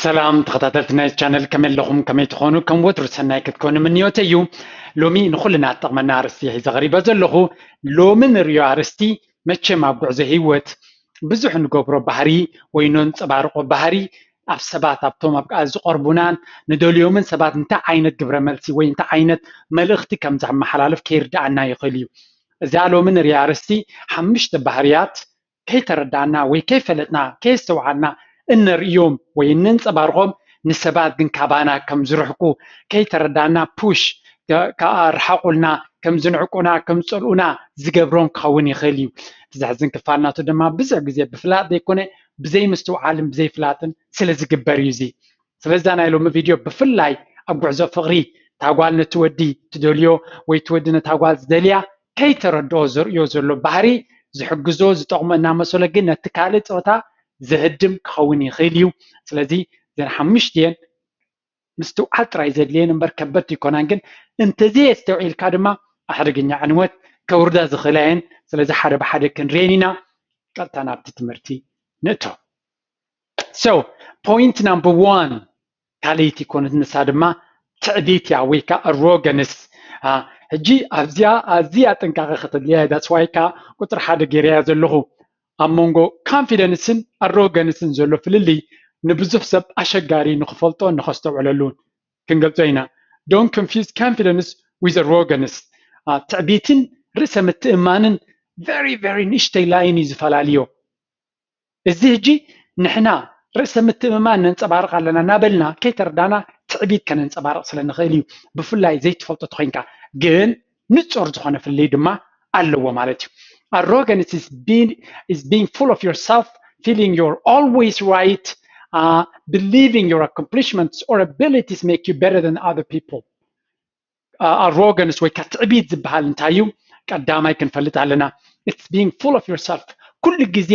ሰላም ተኸታተልቲ ናይ ቻነል፣ ከመይ ኣለኹም? ከመይ ትኾኑ? ከም ወትሩ ሰናይ ክትኮኑ ምንዮተ እዩ። ሎሚ ንኹልና ትጠቕመና ኣርእስቲ ሒዘ ቐሪበ ዘለኹ። ሎሚ ንርእዮ ኣርእስቲ መቸም ኣብ ጉዕዞ ህይወት ብዙሕ ንገብሮ ባህሪ ወይ ነንጸባርቆ ባህሪ ኣብ ሰባት ኣብቶም ኣብ ዝቐርቡናን ንደልዮምን ሰባት እንታይ ዓይነት ግብረ መልሲ ወይ እንታይ ዓይነት መልእኽቲ ከም ዘመሓላልፍ ከይርድኣና ይኽእል እዩ። እዛ ሎሚ ንርእያ ኣርእስቲ ሓሙሽተ ባህርያት ከይተረዳእና ወይ ከይፈለጥና ከየስተውዓልና እነርእዮም ወይ እነንጸባርቖም ንሰባት ግን ካባና ከም ዝርሕቁ ከይተረዳእና ፑሽ ከኣርሓቑልና ከም ዝንዕቁና ከም ዝጸልኡና ዝገብሮም ክኸውን ይኽእል እዩ። እቲ ዘሕዝን ክፋል ናቱ ድማ ብዙሕ ግዜ ብፍላጥ ዘይኮነ ብዘይምስትውዓልን ብዘይፍላጥን ስለ ዝግበር እዩ። እዚ ስለዛ ናይ ሎሚ ቪድዮ ብፍላይ ኣብ ጉዕዞ ፍቕሪ እታ ጓል ነቲ ወዲ ትደልዮ ወይ እቲ ወዲ ነታ ጓል ዝደልያ ከይተረድኦ ዘርእዮ ዘሎ ባህሪ ዝሕግዞ ዝጠቕሞ እናመሰሎ ግን ነቲ ካልእ ፆታ ዘህድም ክኸውን ይኽእል እዩ። ስለዚ እዘን ሓሙሽቲኤን ምስትውዓል ጥራይ ዘድልየን እምበር ከበድቲ ይኮናን፣ ግን እንተዘየስተውዒልካ ድማ ኣሕደገኛ ዕንወት ከውርዳ ዝኽእላ እየን። ስለዚ ሓደ ብሓደ ክንሪኤን ኢና። ቀጥታ ናብቲ ትምህርቲ ንእቶ። So point number one ካልኣይቲ ኮነት፣ ንሳ ድማ ትዕቢት እያ ወይ ከዓ ኣሮገንስ። ሕጂ ኣብዚኣ ኣዝያ ጥንቃቐ ከተድልያ እያ። That's why ከዓ ቁፅሪ ሓደ ገይረያ ዘለኹ። ኣብ መንጎ ኮንፊደንስን ኣሮገንስን ዘሎ ፍልልይ ንብዙሕ ሰብ ኣሸጋሪ ንክፈልጦ ንከስተውዕለሉን ክንገልጾ ኢና። Don't confuse confidence with arrogance። ትዕቢትን ርእሰ ምትእማንን very very ንእሽተይ ላይን እዩ ዝፈላልዮ። እዚ ሕጂ ንሕና ርእሰ ምትእምማን ነንጸባርቕ ኣለና እናበልና ከይተረዳና ትዕቢት ከነንጸባርቕ ስለ ንኽእል እዩ። ብፍላይ ዘይትፈልጦ ተኾይንካ ግን ንጹር ዝኾነ ፍልልይ ድማ ኣለዎ ማለት እዩ። Arrogance is being, is being full of yourself, feeling you're always right, uh, believing your accomplishments or abilities make you better than other people. ኣሮገንስ ወይ ከዓ ትዕቢት ዝበሃል እንታይ እዩ? ቀዳማይ ክንፈልጥ ኣለና። It's being full of yourself። ኩሉ ግዜ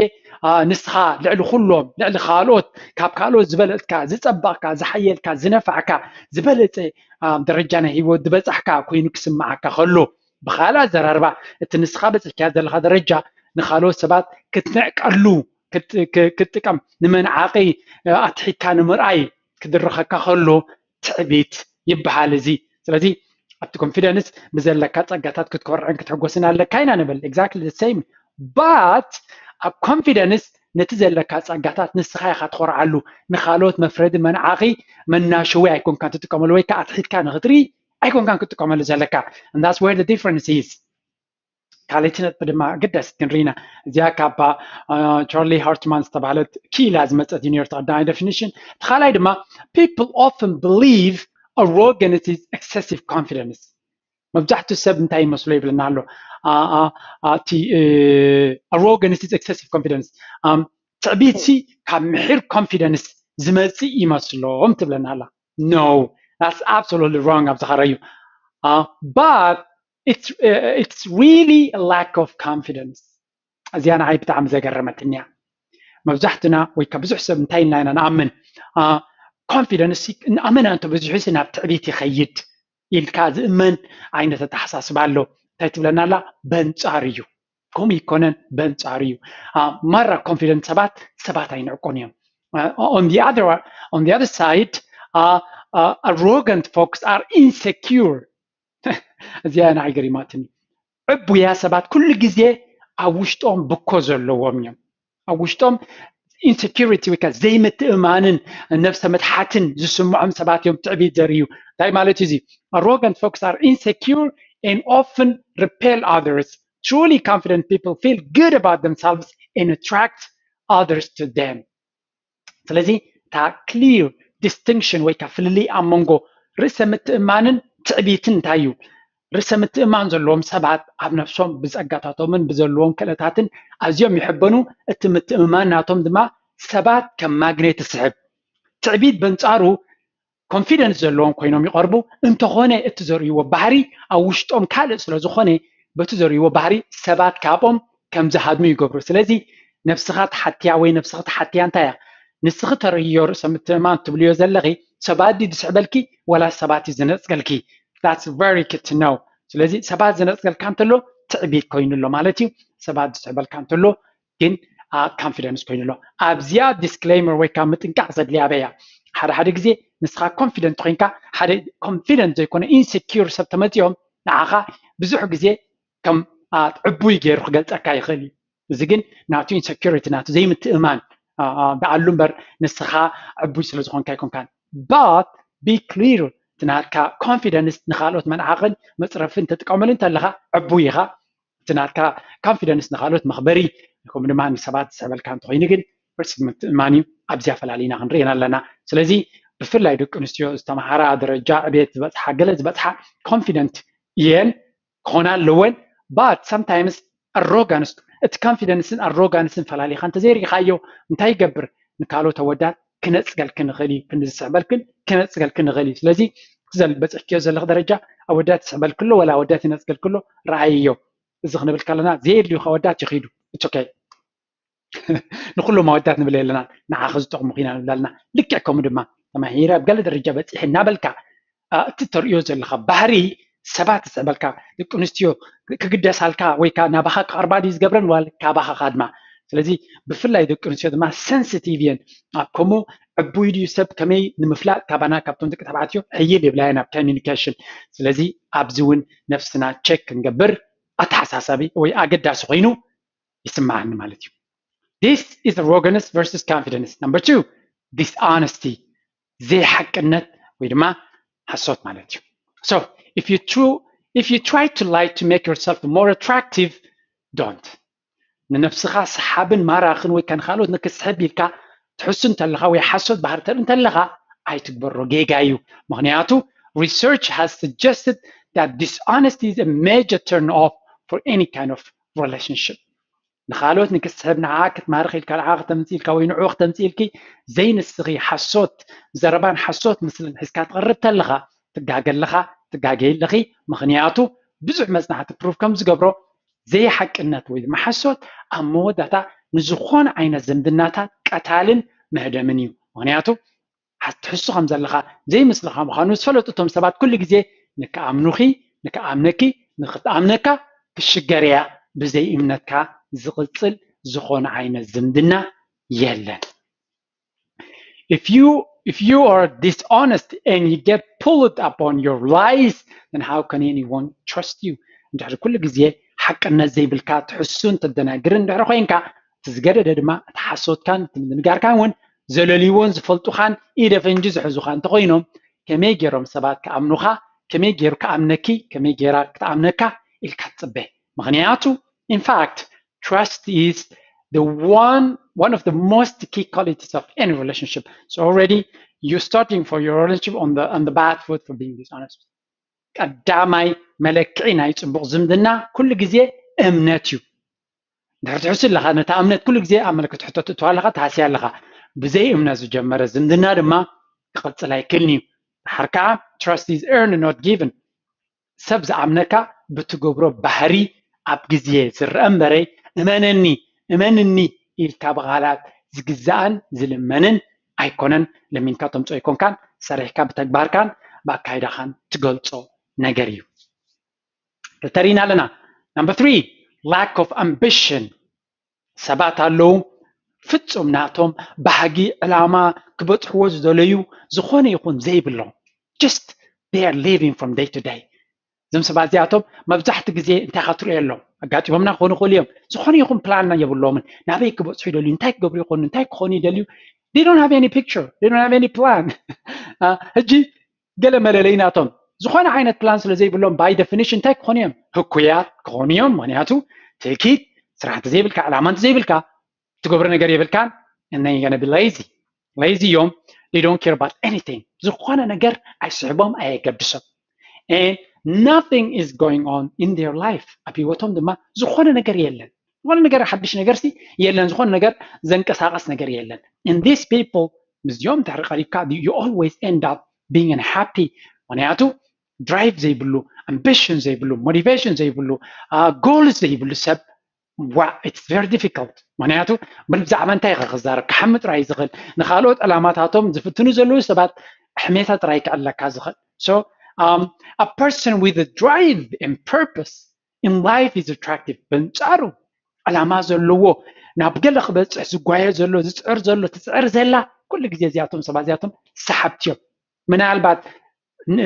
ንስኻ ልዕሊ ኩሎም፣ ልዕሊ ካልኦት፣ ካብ ካልኦት ዝበለፅካ፣ ዝፀበቕካ፣ ዝሓየልካ፣ ዝነፋዕካ፣ ዝበለፀ ደረጃ ናይ ህይወት ዝበፃሕካ ኮይኑ ክስምዓካ ከሎ፣ ብካልእ ኣዘራርባ እቲ ንስኻ በፂሕካዮ ዘለኻ ደረጃ ንካልኦት ሰባት ክትንዕቀሉ ክትጥቀም፣ ንመንዓቂ ኣትሒትካ ንምርኣይ ክድርኸካ ከሎ ትዕቢት ይበሃል እዚ። ስለዚ ኣብቲ ኮንፊደንስ ብዘለካ ፀጋታት ክትኮርዕን ክትሕጎስን ኣለካ ኢና ንብል። Exactly the same but ኣብ ኮንፊደንስ ነቲ ዘለካ ፀጋታት ንስኻ ኢኻ ትኾርዓሉ። ንካልኦት መፍረዲ፣ መንዓኺ፣ መናሸዊ ኣይኮንካን ትጥቀመሉ ወይ ከዓ ኣትሒትካ ንክትርኢ ኣይኮንካን ክትጥቀመሉ ዘለካ። And that's where the difference is። ካልኣይቲ ነጥቢ ድማ ግደስ ክንርኢና እዚኣ ካብ ቻርሊ ሃርትማን ዝተባህለት ክኢላ ዝመፀት እዩ ነርቶ ቀዳማይ ዴፊኒሽን። እቲ ካልኣይ ድማ people often believe arrogance is excessive confidence። መብዛሕትኡ ሰብ እንታይ ይመስሎ ይብለና ኣሎ? እቲ arrogance is excessive confidence፣ ትዕቢት ሲ ካብ ምሒር ኮንፊደንስ ዝመፅእ ይመስሎም ትብለና ኣላ። No, that's absolutely wrong። ኣብዚ ከረዩ but it's, it's really a lack of confidence። እዚኣ ንዓይ ብጣዕሚ ዘገረመትኒ እያ። መብዛሕትና ወይ ካብ ብዙሕ ሰብ እንታይ ኢልና ኢና ንኣምን? ኮንፊደንስ ንኣመና እንተበዚሑ ናብ ትዕቢት ይኸይድ ኢልካ ዝእመን ዓይነት ኣተሓሳስባ ኣሎ። እንታይ ትብለና ኣላ? በንጻር እዩ። ከምኡ ይኮነን፣ በንጻር እዩ። ማራ ኮንፊደንት ሰባት ሰባት ኣይንዕቆን እዮም። On the other, on the other side, arrogant folks are insecure። እዚኣ ንዓይ ገሪማትኒ። ዕቡያ ሰባት ኩሉ ግዜ ኣብ ውሽጦም ብኮ ዘለዎም እዮም። ኣብ ውሽጦም ኢንሴኪሪቲ ወይ ከዓ ዘይምትእማንን ነብሰ ምትሓትን ዝስምዖም ሰባት እዮም ትዕቢት ዘርእዩ። እንታይ ማለት እዩ እዚ? Arrogant folks are insecure and often repel others. Truly confident people feel good about themselves and attract others to them. ስለዚ እታ ክሊር ዲስቲንክሽን ወይ ከዓ ፍልልይ ኣብ መንጎ ርእሰ ምትእማንን ትዕቢትን እንታይ እዩ? ርእሰ ምትእማን ዘለዎም ሰባት ኣብ ነብሶም ብፀጋታቶምን ብዘለዎም ክእለታትን ኣዝዮም ይሕበኑ። እቲ ምትእምማን ናቶም ድማ ሰባት ከም ማግኔት ይስሕብ። ትዕቢት በንፃሩ ኮንፊደንስ ዘለዎም ኮይኖም ይቐርቡ። እንተኾነ እቲ ዘርእይዎ ባህሪ ኣብ ውሽጦም ካልእ ስለ ዝኾነ በቲ ዘርእይዎ ባህሪ ሰባት ካብኦም ከም ዝሃድሙ ይገብሩ። ስለዚ ነብስኻ ትሓትያ ወይ ነብስኻ ትሓትያ እንታይ እያ? ንስኺ ተርእዮ ርእሰ ምትእማን ትብልዮ ዘለኺ ሰባት ድዩ ዝስሕበልኪ ወላ ሰባት እዩ ዝነፅገልኪ? That's very good to know። ስለዚ ሰባት ዝነፅገልካ እንተሎ ትዕቢት ኮይኑ ኣሎ ማለት እዩ። ሰባት ዝስሕበልካ እንተሎ ግን ኮንፊደንስ ኮይኑ ኣሎ። ኣብዚኣ ዲስክሌመር ወይ ከዓ ምጥንቃቕ ዘድልያ ኣበይ እያ? ሓደ ሓደ ግዜ ንስኻ confident ኮይንካ ሓደ confident ዘይኮነ insecure ሰብ ተመፂኦም ንዓኻ ብዙሕ ግዜ ከም ዕቡይ ገይሩ ክገልፀካ ይኽእል እዩ። እዚ ግን ናቱ insecurity ናቱ ዘይምትእማን ደኣሉ እምበር ንስኻ ዕቡይ ስለ ዝኾንካ ኣይኮንካን። But be clear፣ እቲ ናትካ confidence ንካልኦት መንዓቕን መፅረፍን ተጥቀመሉ እንተለኻ ዕቡይ ኢኻ። እቲ ናትካ confidence ንካልኦት መኽበሪ ከምኡ ድማ ንሰባት ዝስሕበልካ እንተኮይኑ ግን ርእሲ ምትእማን እዩ። ኣብዚኣ ፈላሊና ክንርእየን ኣለና። ስለዚ ብፍላይ ደቂ ኣንስትዮ ዝተምሃራ ደረጃ ዕቤት ዝበፅሓ ገለ ዝበፅሓ confident እየን ክኾና ኣለወን። But sometimes arrogance፣ እቲ confidence ን arrogance ን ፈላሊኻ እንተዘይርኢኻዮ እንታይ ይገብር? ንካልኦት ኣወዳት ክነፅገልክን ንኽእል እዩ። ክንዲ ዝስሕበልክን ክነፅገልክን ንኽእል እዩ። ስለዚ እቲ ዘል በፅሕክዮ ዘለኽ ደረጃ ኣወዳት ይስሕበልክሎ ወላ ኣወዳት ይነፅገልክሎ ረኣይዮ። እዚ ክንብል ከለና ዘየድልዩኻ ኣወዳት ይኺዱ። It's okay። ንኩሎም ኣወዳት ንብል የለና፣ ንዓኺ ዝጠቕሙኺ ኢና ንብል ኣለና። ልክዕ ከምኡ ድማ ተማሂረ ኣብ ገለ ደረጃ በፂሐ እናበልካ እቲ ተርእዮ ዘለኻ ባህሪ ሰባት ዝስዕበልካ ደቂ ኣንስትዮ ክግደሳልካ ወይ ከዓ ናባኻ ክቐርባ ድዩ ዝገብረን ዋል ካባኻ ካድማ። ስለዚ ብፍላይ ደቂ ኣንስትዮ ድማ sensitive እየን ኣብ ከምኡ ዕቡይ ድዩ ሰብ ከመይ ንምፍላጥ ካባና ካብቶም ደቂ ተባዕትዮ ሕይል ይብላ እየን ኣብ communication። ስለዚ ኣብዚ እውን ነፍስና check ክንገብር ኣተሓሳሳቢ ወይ ኣገዳሲ ኮይኑ ይስምዓኒ ማለት እዩ። This is arrogance versus confidence. Number two, dishonesty፣ ዘይሓቅነት ወይ ድማ ሓሶት ማለት እዩ። So if you true if you try to lie to make yourself more attractive, don't። ንነብስኻ ሰሓብን ማራኽን ወይ ከንካልኦት ንክስሕብ ኢልካ ትሕሱ እንተለኻ ወይ ሓሶት ባህሪ ተርኢ እንተለኻ ኣይትግበሮ፣ ጌጋ እዩ። ምክንያቱ research has suggested that dishonesty is a major turn off for any kind of relationship። ንኻልኦት ንክስሕብ ንዓ ክትማርኽ ኢልካ ንዓ ክተምፅእ ኢልካ ወይ ንዑ ክተምፅእ ኢልኪ ዘይንስኺ ሓሶት ዘረባን ሓሶት ምስልን ሒዝካ ትቐርብ ተለኻ ትጋገ ኣለኻ፣ ትጋገይ ኣለኺ። ምኽንያቱ ብዙሕ መፅናዕቲ prove ከም ዝገብሮ ዘይሓቅነት ወይ ድማ ሓሶት ኣብ መወዳእታ ንዝኾነ ዓይነት ዝምድናታት ቀታልን መህደምን እዩ። ምኽንያቱ ትሕሱ ከም ዘለኻ ዘይምስልኻ ምዃኑ ዝፈለጡ እቶም ሰባት ኩሉ ግዜ ንክኣምኑኺ ንክኣምነኪ ንክትኣምነካ ክሽገር እያ። ብዘይ እምነትካ ዝቕፅል ዝኾነ ዓይነት ዝምድና የለን። If you if you are dishonest and you get pulled upon your lies, then how can anyone trust you? እንድሕሪ ኩሉ ግዜ ሓቅነት ዘይብልካ ትሕሱን ተደናግርን እንድሕሪ ኮይንካ እቲ ዝገደደ ድማ እቲ ሓሶትካን እቲ ምድንጋርካን እውን ዘለልይዎን ዝፈልጡኻን ኢደ ፈንጂ ዝሕዙኻ እንተኮይኖም ከመይ ገይሮም ሰባት ክኣምኑኻ? ከመይ ገይሩ ክኣምነኪ? ከመይ ገይራ ክትኣምነካ ኢልካ ትፅበ? ምክንያቱ in fact trust is the one one of the most key qualities of any relationship. So already you're starting for your relationship on the on the bad foot for being dishonest. ቀዳማይ መለክዒ ናይ ፅቡቕ ዝምድና ኩሉ ግዜ እምነት እዩ። እንድሕር ትሕሱ ኣለኻ ነታ እምነት ኩሉ ግዜ ኣብ መለክት ሕቶ ትእትዋ ኣለኻ፣ ትሃስያ ኣለኻ። ብዘይ እምነት ዝጀመረ ዝምድና ድማ ክቕፅል ኣይክእልን እዩ። ድሓር ከዓ trust is earned not given። ሰብ ዝኣምነካ ብትገብሮ ባህሪ ኣብ ግዜ ዝረአ እምበረ እመነኒ እመንኒ ኢልካ ብቓላት ዝግዛእን ዝልመንን ኣይኮነን። ለሚንካ ተምፅኦ ኣይኮንካን፣ ሰሪሕካ ብተግባርካን ብኣካይዳኻን ትገልፆ ነገር እዩ። ክልተ ርኢና ኣለና። Number three, lack of ambition። ሰባት ኣለዉ ፍጹም ናቶም ባህጊ ዕላማ ክበጽሕዎ ዝደለዩ ዝኾነ ይኹን ዘይብሎም just they are living from day to day። እዞም ሰባት እዚኣቶም መብዛሕቲ ግዜ እንታይ ካ ትሪኦ የሎም ኣጋጢሞምና ክኾኑ ይኽእሉ እዮም። ዝኾነ ይኹን ፕላን የብሎምን። ናበይ ክበጽሑ ይደልዩ፣ እንታይ ክገብሩ ይኾኑ፣ እንታይ ክኾኑ ይደልዩ። They don't have any picture, they don't have any plan። ሕጂ ገለ መለለይ ናቶም ዝኾነ ዓይነት ፕላን ስለ ዘይብሎም by definition እንታይ ክኾኑ እዮም? ህኩያት ክኾኑ እዮም። ምክንያቱ ትእኪት ስራሕ እንተዘይብልካ ዕላማ እንተዘይብልካ ትገብሮ ነገር የብልካን። And then you're gonna be lazy. Lazy እዮም። They don't care about anything። ዝኾነ ነገር ኣይስሕቦም ኣየገድሶም። And nothing is going on in their life። ኣብ ህይወቶም ድማ ዝኾነ ነገር የለን። ዝኾነ ነገር ሓድሽ ነገር ሲ የለን። ዝኾነ ነገር ዘንቀሳቀስ ነገር የለን። And these people ምስዚኦም ድሕሪ ቀሪብካ you always end up being unhappy። ምክንያቱ ድራይቭ ዘይብሉ፣ ኣምቢሽን ዘይብሉ፣ ሞቲቬሽን ዘይብሉ፣ ጎልስ ዘይብሉ ሰብ ዋ it's very difficult። ምክንያቱ ብዛዕባ እንታይ ኢኻ ክዛረብ ክሓሚ ጥራይ ዝኽእል ንካልኦት ዕላማታቶም ዝፍትኑ ዘለዉ ሰባት ሕሜታ ጥራይ ክዕለካ ዝኽእል። So um, a person with a drive and purpose in life is attractive። በንጻሩ ዕላማ ዘለዎ ናብ ገለ ክበፅሕ ዝጓየ ዘሎ ዝፅዕር ዘሎ ትፅዕር ዘላ ኩሉ ግዜ እዚኣቶም ሰባት እዚኣቶም ሰሓብቲ እዮም። ምናልባት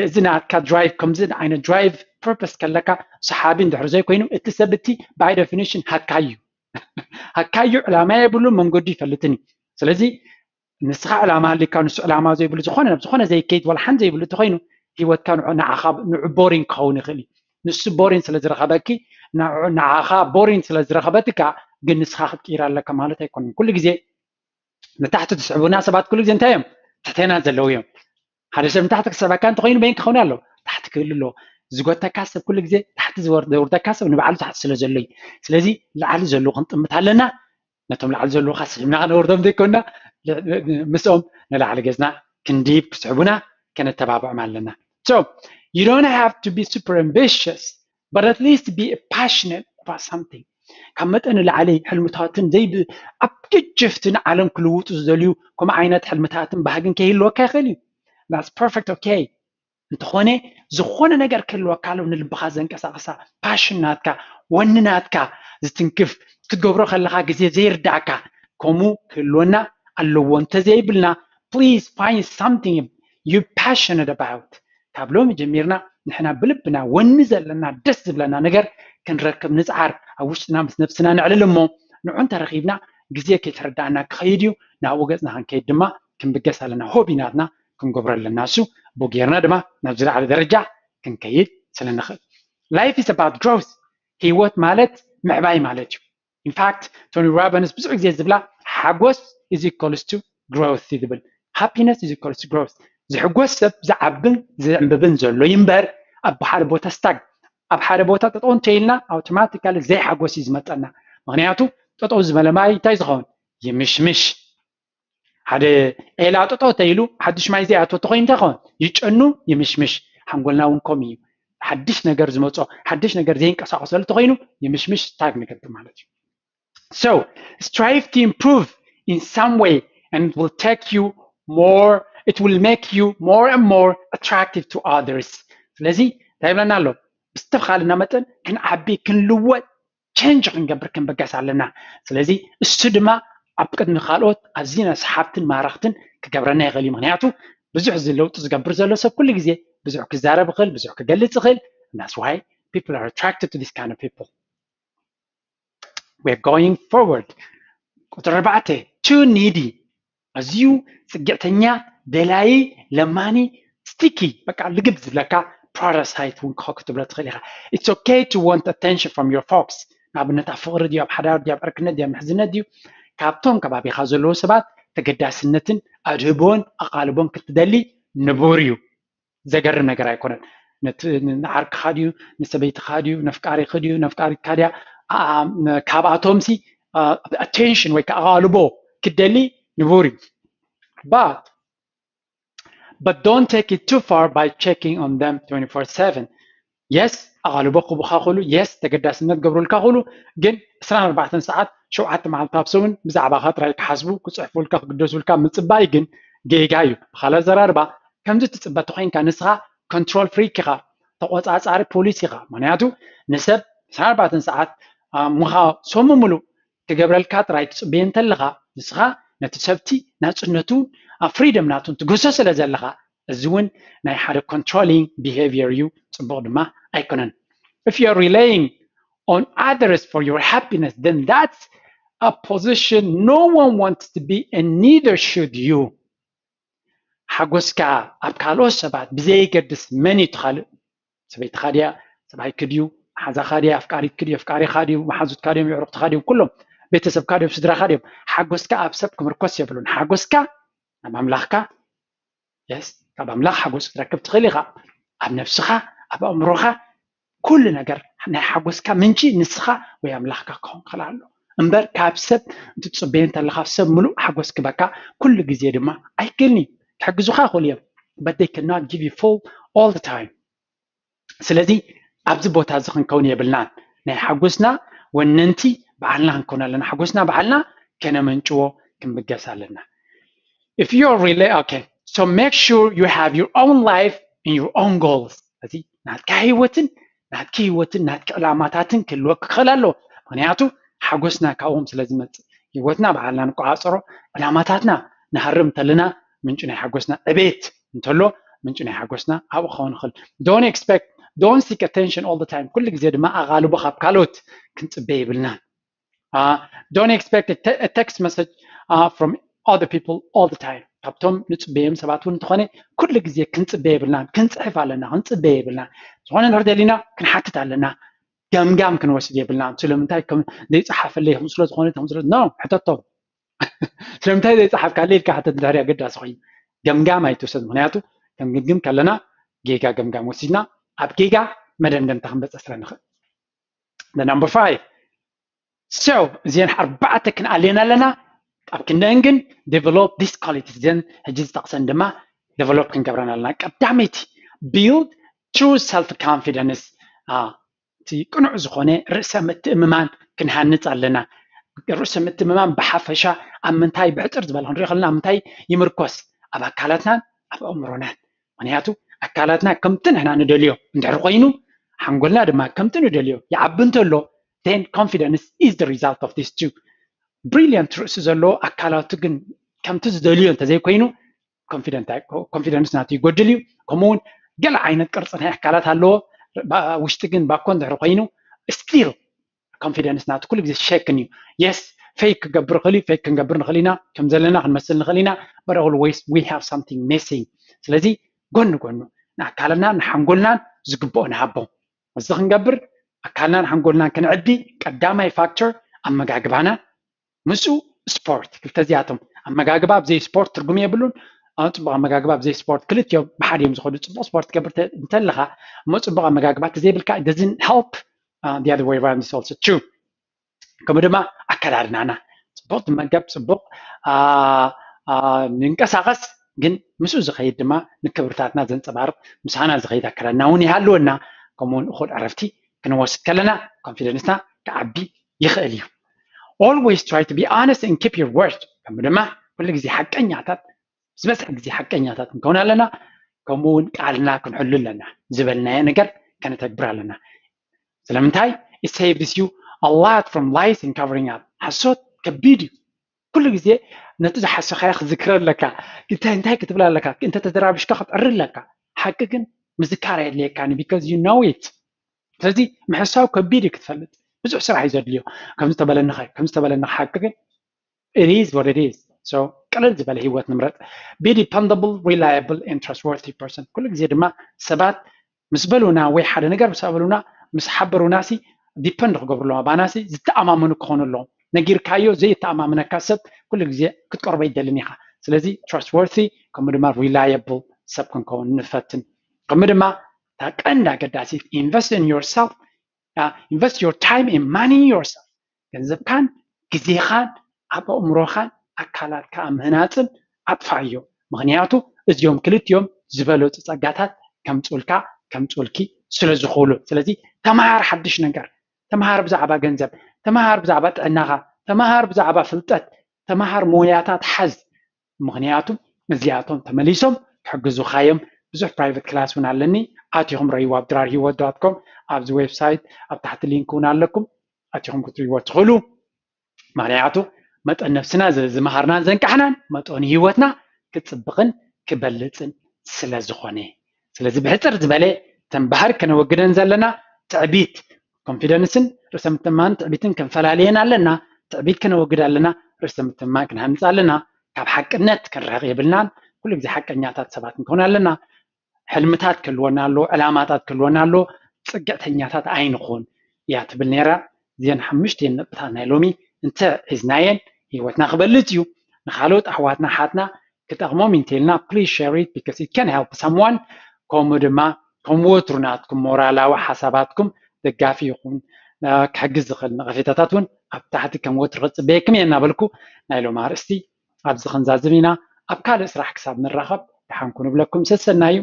እዚ ናትካ ድራይቭ ከምዚ ዓይነት ድራይቭ ፐርፐስ ከለካ ሰሓቢ እንድሕር ዘይኮይኑ እቲ ሰብ እቲ ባይ ደፊኒሽን ሃካዩ ሃካዩ ዕላማ የብሉ መንገዱ ይፈልጥን እዩ። ስለዚ ንስኻ ዕላማ ሃልካ ንሱ ዕላማ ዘይብሉ ዝኾነ ናብ ዝኾነ ዘይከይድ ዋላ ሓን ዘይብሉ እንተኮይኑ ህይወትካ ንዓኻ ንዑ ቦሪንግ ክኸውን ይኽእል እዩ። ንሱ ቦሪን ስለ ዝረኸበኪ ንዓኻ ቦሪን ስለ ዝረኸበትካ ግን ንስኻ ክትቅይር ኣለካ ማለት ኣይኮነን። ኩሉ ግዜ ንታሕቲ ትስዕቡና ሰባት ኩሉ ግዜ እንታይ እዮም? ትሕቴና ዘለዉ እዮም። ሓደ ሰብ ንታሕቲ ክስዕበካ እንተኮይኑ በይን ክኸውን ኣለዎ። ታሕቲ ክህሉ ኣለዎ። ዝጎተካ ሰብ ኩሉ ግዜ ታሕቲ ዘውርደካ ሰብ ንባዕሉ ታሕቲ ስለ ዘሎ እዩ። ስለዚ ላዕሊ ዘለዉ ክንጥምት ኣለና። ነቶም ላዕሊ ዘለዉ ከስዕብና ክነውርዶም ዘይኮንና ምስኦም ንላዕሊ ገጽና ክንድይብ ክስዕቡና ከነተባብዖም ኣለና። So you don't have to be super ambitious, but at least be passionate about something. ካብ መጠን ንላዕሊ ሕልምታትን ዘይብ ኣብ ገጀፍቲ ንዓለም ክልውጡ ዝደልዩ ከምኡ ዓይነት ሕልምታትን ባህግን ከይህልወካ ይኽእል እዩ። That's perfect, okay። እንተኾነ ዝኾነ ነገር ክህልወካ ኣሎ ንልብኻ ዘንቀሳቕሳ ፓሽን ናትካ ወኒ ናትካ ዝትንክፍ ክትገብሮ ከለኻ ግዜ ዘይርዳእካ ከምኡ ክህልወና ኣለዎ እንተዘይብልና please find something you passionate about። ካብ ሎሚ ጀሚርና ንሕና ብልብና ወኒ ዘለና ደስ ዝብለና ነገር ክንረክብ ንፅዓር። ኣብ ውሽጥና ምስ ነብስና ነዕልል እሞ ንዑ እንተረኺብና ግዜ ከይተረዳእና ክኸይድ እዩ። ናብኡ ገፅና ክንከይድ ድማ ክንብገስ ኣለና። ሆቢ ናትና ክንገብሮ ኣለና። እሱ ብኡ ጌርና ድማ ናብ ዝለዓለ ደረጃ ክንከይድ ስለ ንኽእል። Life is about growth። ህይወት ማለት ምዕባይ ማለት እዩ። In fact Tony Robbins ብዙሕ ግዜ ዝብላ ሓጎስ is equals to growth እዩ ዝብል። Happiness is equals to growth። ዝሕጎስ ሰብ ዝዓብን ዝዕንብብን ዘሎ እዩ እምበር ኣብ ሓደ ቦታ ስታግ ኣብ ሓደ ቦታ ጠጠው እንተኢልና ኣውቶማቲካሊ ዘይሓጎስ እዩ ዝመፀና። ምክንያቱ ጠጠው ዝበለ ማይ እንታይ ዝኸውን? ይምሽምሽ። ሓደ ዒላ ጠጠው ተኢሉ ሓዱሽ ማይ ዘይኣትዎ ተኮይኑ እንታይ ይኸውን? ይጨኑ፣ ይምሽምሽ። ሓንጎልና እውን ከምኡ እዩ። ሓድሽ ነገር ዝመፆ ሓድሽ ነገር ዘይንቀሳቀሰሉ ተኮይኑ ይምሽምሽ፣ ስታግ ንገብር ማለት እዩ። So strive to improve in some way and it will take you more, it will make you more and more attractive to others። ስለዚ እንታይ ይብለና ኣሎ? ብዝተኻልና መጠን ክንዓቢ ክንልወጥ ቸንጅ ክንገብር ክንበገስ ኣለና። ስለዚ እሱ ድማ ኣብ ቅድሚ ካልኦት ኣዝና ሰሓብትን ማረኽትን ክገብረና ይኽእል እዩ። ምክንያቱ ብዙሕ እዚ ለውጢ ዝገብር ዘሎ ሰብ ኩሉ ግዜ ብዙሕ ክዛረብ ይኽእል፣ ብዙሕ ክገልፅ ይኽእል። That's why people are attracted to this kind of people. We're going forward. ቁፅሪ ኣርባዕተ too needy። ኣዝዩ ፅግዕተኛ፣ ደላዪ፣ ለማኒ፣ ስቲኪ፣ በቃ ልግብ ዝብለካ ፓራሳይት እውን ክትብሎ ትኽእል ኢኻ። It's okay to want attention from your folks። ንኣብነት ኣብ ፍቕሪ ድዩ ኣብ ሓዳር ድዩ ኣብ ዕርክነት ድዩ ኣብ ምሕዝነት ድዩ ካብቶም ከባቢኻ ዘለዉ ሰባት ተገዳስነትን ኣድህቦን ኣቓልቦን ክትደሊ ንቡር እዩ። ዘገርም ነገር ኣይኮነን። ንዓርክኻ ድዩ ንሰበይትኻ ድዩ ነፍቃሪኺ ድዩ ነፍቃሪትካ ድያ ካብኣቶም ሲ attention ወይ ከዓ ኣቓልቦ ክትደሊ ንቡር እዩ። But but don't take it too far by checking on them twenty-four seven. Yes ኣቓልቦ ክቡኻ ክሉ፣ yes ተገዳስነት ገብሩልካ ክሉ፣ ግን ዕስራን ኣርባዕተን ሰዓት ሸውዓተ መዓልቲ ኣብ ሰሙን ብዛዕባኻ ጥራይ ክሓስቡ ክፅሕፉልካ ክግደሱልካ ምፅባይ ግን ጌጋ እዩ። ብኻልእ ኣዘራርባ ከምዚ ትፅበ ተኮይንካ ንስኻ ኮንትሮል ፍሪክ ኢኻ፣ ተቆፃፃሪ ፖሊስ ኢኻ። ምክንያቱ ንሰብ ዕስራን ኣርባዕተን ሰዓት ምኻ ሰሙ ሙሉእ ክገብረልካ ጥራይ ትፅበዮ እንተለኻ ንስኻ ነቲ ሰብቲ ናፅነቱ ኣብ ፍሪደም ናቱን ትግህሶ ስለ ዘለኻ እዚ እውን ናይ ሓደ ኮንትሮሊንግ ቢሄቪየር እዩ፣ ፅቡቕ ድማ ኣይኮነን። If you are relying on others for your happiness, then that's a position no one wants to be and neither should you. ሓጎስካ ኣብ ካልኦት ሰባት ብዘየገድስ መን እዩ ካልእ ሰበይትኻ ድያ ሰብኣይክ ድዩ መሓዛኻ ድያ ኣፍቃሪትክ ድዩ ኣፍቃሪኻ ድዩ መሓዙትካ ድዮም የዕሩኽትኻ ድዮም ኩሎም ቤተሰብካ ድዮም ስድራኻ ድዮም ሓጎስካ ኣብ ሰብ ክምርኮስ የብሉን ሓጎስካ ናብ ኣምላኽካ የስ ካብ ኣምላኽ ሓጎስ ክትረክብ ትኽእል ኢኻ ኣብ ነብስኻ ኣብ ኣእምሮኻ ኩሉ ነገር ናይ ሓጎስካ ምንጪ ንስኻ ወይ ኣምላኽካ ክኸውን ክኽእል ኣሎ እምበር ካብ ሰብ እንትትፅበዮ እንተለኻ ሰብ ምሉእ ሓጎስ ክበካ ኩሉ ግዜ ድማ ኣይክእልን እዩ ክሕግዙኻ ይኽእሉ እዮም but they cannot give you full all the time ስለዚ ኣብዚ ቦታ እዚ ክንከውን የብልናን ናይ ሓጎስና ወነንቲ በዓልና ክንከውን ኣለና ሓጎስና በዓልና ከነመንጭዎ ክንብገስ ኣለና if you are really okay so make sure you have your own life and your own goals እዚ ናትካ ህይወትን ናትኪ ህይወትን ናትኪ ዕላማታትን ክህልወክ ክኽእል ኣለዎ ምክንያቱ ሓጎስና ካብኦም ስለ ዝመፅእ ህይወትና በዓልና ንቆፃፀሮ ዕላማታትና ንሃርም እንተለና ምንጪ ናይ ሓጎስና፣ ዕቤት እንተሎ ምንጪ ናይ ሓጎስና ኣብኡ ክኸውን ይኽእል። Don't expect, don't seek attention all the time። ኩሉ ግዜ ድማ ኣቓልቦ ካብ ካልኦት ክንጽበ የብልናን። Don't expect a text message from other people all the time። ካብቶም ንጽበዮም ሰባት እውን እንተኾነ ኩሉ ግዜ ክንጽበ የብልናን። ክንጽሕፍ ኣለና፣ ክንጽበ የብልናን። ዝኾነ እንድሕር ደሊና ክንሓትት ኣለና። ገምጋም ክንወስድ የብልናን። ስለምንታይ ከም ዘይጸሓፈለይ ከም ስለ ዝኾነ ከም ስለ no ሕተቶም። ስለምንታይ ዘይጸሓፍካለይ ኢልካ ሕተት እንድሕር ኣገዳሲ ኮይኑ ገምጋም ኣይትውሰድ። ምክንያቱ ከም ግምግም ከለና ጌጋ ገምጋም ወሲድና ኣብ ጌጋ መደምደምታ ክንበጽሕ ስለ ንኽእል። The number five። So እዚአን ኣርባዕተ ክንኣልየን ኣለና። ኣብ ክንደን ግን develop these qualities እዚአን ሕጂ ዝጠቕሰን ድማ develop ክንገብረን ኣለና። ቀዳመይቲ build true self confidence። እቲ ቅኑዕ ዝኾነ ርእሰ ምትእምማን ክንሃንጽ ኣለና። ርእሰ ምትእምማን ብሓፈሻ ኣብ ምንታይ ብሕጽር ዝበለ ክንሪኦ ከለና ኣብ ምንታይ ይምርኮስ? ኣብ ኣካላትናን ኣብ ኣእምሮናን። ምክንያቱ ኣካላትና ከምቲ ንሕና ንደልዮ እንድሕር ኮይኑ ሓንጎልና ድማ ከምቲ ንደልዮ ይዓቢ እንተሎ then confidence is the result of these two። Brilliant ርእሲ ዘለዎ ኣካላቱ ግን ከምቲ ዝደልዮ እንተዘይኮይኑ confidence ናቱ ይጎድል እዩ። ከምኡ እውን ገለ ዓይነት ቅርፂ ናይ ኣካላት ኣለዎ፣ ውሽጢ ግን ባኮ እንድሕር ኮይኑ still confidence ናቱ ኩሉ ግዜ ሸክን እዩ። Yes fake ክገብር ይኽእል እዩ፣ fake ክንገብር ንኽእል ኢና፣ ከም ዘለና ክንመስል ንኽእል ኢና፣ but always we have something missing። ስለዚ ጎኒ ጎኑ ንኣካልና ንሓንጎልናን ዝግብኦ ንሃቦ። እዚ ክንገብር ኣካልናን ሓንጎልናን ክንዕቢ ቀዳማይ factor ኣመጋግባና ምስኡ ስፖርት። ክልተ እዚኣቶም ኣመጋግባ ብዘይ ስፖርት ትርጉም የብሉን። ኣብ ፅቡቅ ኣመጋግባ ብዘይ ስፖርት ክልቲኦም ብሓደ እዮም ዝኸዱ። ፅቡቅ ስፖርት ትገብር እንተለካ እሞ ፅቡቅ ኣመጋግባ ተዘይብልካ doesn't help። The other way around is also true። ከምኡ ድማ ኣከዳድናና ፅቡቅ ትመገብ፣ ፅቡቅ ንንቀሳቀስ፣ ግን ምስኡ ዝኸይድ ድማ ንክብርታትና ዘንፀባርቅ ምሳና ዝኸይድ ኣከዳድና እውን ይሃልወና። ከምኡውን እኹል ዕረፍቲ ክንወስድ ከለና confidence ና ክዓቢ ይኽእል እዩ። Always try to be honest and keep your word። ከምኡ ድማ ኩሉ ግዜ ሓቀኛታት፣ ዝበዝሕ ግዜ ሓቀኛታት ክንከውን ኣለና። ከምኡ እውን ቃልና ክንሕሉ ኣለና። ዝበልናዮ ነገር ከነተግብር ኣለና። ስለምንታይ? It saves you a lot from lies and covering up። ሓሶት ከቢድ እዩ። ኩሉ ግዜ ነቲ ዝሓሰኻዮ ክዝክረ ኣለካ። እንታይ እንታይ ክትብል ኣለካ፣ እንተ ተደራቢሽካ ክትዕሪ ኣለካ። ሓቂ ግን ምዝካር ኣየድልየካን because you know it። ስለዚ ምሕሳው ከቢድ እዩ ክትፈልጥ። ብዙሕ ስራሕ እዩ ዘድልዮ። ከምዚ ተበለንኻ ከምዚ ተበለንኻ ሓቂ ግን it is what it is። So ቅልል ዝበለ ህይወት ንምረጥ። Be dependable, reliable and trustworthy person። ኩሉ ግዜ ድማ ሰባት ምስ በሉና ወይ ሓደ ነገር ምስ ኣበሉና ምስ ሓበሩና ሲ depend ክገብሩ ኣለዎም ኣባና ሲ ዝተኣማመኑ ክኾኑ ኣለዎም። ነጊርካዮ ዘይተኣማመነካ ሰብ ኩሉ ግዜ ክትቀርቦ ይደልን ኢኻ። ስለዚ trustworthy ከምኡ ድማ reliable ሰብ ክንከውን ንፈትን። ከምኡ ድማ እታ ቀንዲ ኣገዳሲት invest in yourself። Invest your time and money in yourself። ገንዘብካን ግዜኻን ኣብ ኣእምሮኻን ኣካላትካ ኣብ ምህናፅን ኣጥፋእዮ። ምክንያቱ እዚኦም ክልቲኦም ዝበለፁ ፀጋታት ከምፅኡልካ ከምፅኡልኪ ስለ ዝኽእሉ። ስለዚ ተምሃር ሓድሽ ነገር፣ ተምሃር ብዛዕባ ገንዘብ፣ ተምሃር ብዛዕባ ጥዕናኻ፣ ተምሃር ብዛዕባ ፍልጠት፣ ተምሃር ሞያታት ሓዝ። ምክንያቱ እዚኣቶም ተመሊሶም ክሕግዙኻ እዮም። ብዙሕ private class እውን ኣለኒ፣ ኣቲኹም ረይዎ ኣብ ድራር ህይወት dot com። ኣብዚ website ኣብ ታሕቲ link እውን ኣለኩም፣ ኣቲኹም ክትሪእዎ ትኽእሉ። ምክንያቱ መጠን ነብስና ዝመሃርናን ዘንቃሕናን መጠኑ ህይወትና ክፅብቕን ክበልፅን ስለ ዝኾነ። ስለዚ ብሕፅር ዝበለ እተን ባህሪ ከነወግደን ዘለና ትዕቢት፣ confidence ን ርእሰ ምትእምማን ትዕቢትን ክንፈላልየን ኣለና። ትዕቢት ከነወግድ ኣለና፣ ርእሰ ምትእምማን ክንሃንፅ ኣለና። ካብ ሓቅነት ክንርሕቕ የብልናን። ኩሉ ግዜ ሓቀኛታት ሰባት ክንከውን ኣለና። ሕልምታት ክህልወና ኣለዎ፣ ዕላማታት ክህልወና ኣለዎ። ፅግዕተኛታት ኣይንኹን እያ ትብል ነይራ። እዚአን ሓሙሽቲአን ነጥብታት ናይ ሎሚ እንተ ሒዝናየን ህይወትና ክበልፅ እዩ። ንካልኦት ኣሕዋትና ሓትና ክጠቕሞም እንተኢልና please share it because it can help someone። ከምኡ ድማ ከም ወትሩ ናትኩም ሞራላዊ ሓሳባትኩም ደጋፊ ይኹን ክሕግዝ ዝኽእል ነቐፌታታት እውን ኣብ ታሕቲ ከም ወትሩ ክፅበየኩም እየ እናበልኩ ናይ ሎም ኣርእስቲ ኣብዚ ክንዛዝም ኢና። ኣብ ካልእ ስራሕ ክሳብ ንራኸብ ደሓንኩ ንብለኩም ሰሰናዩ።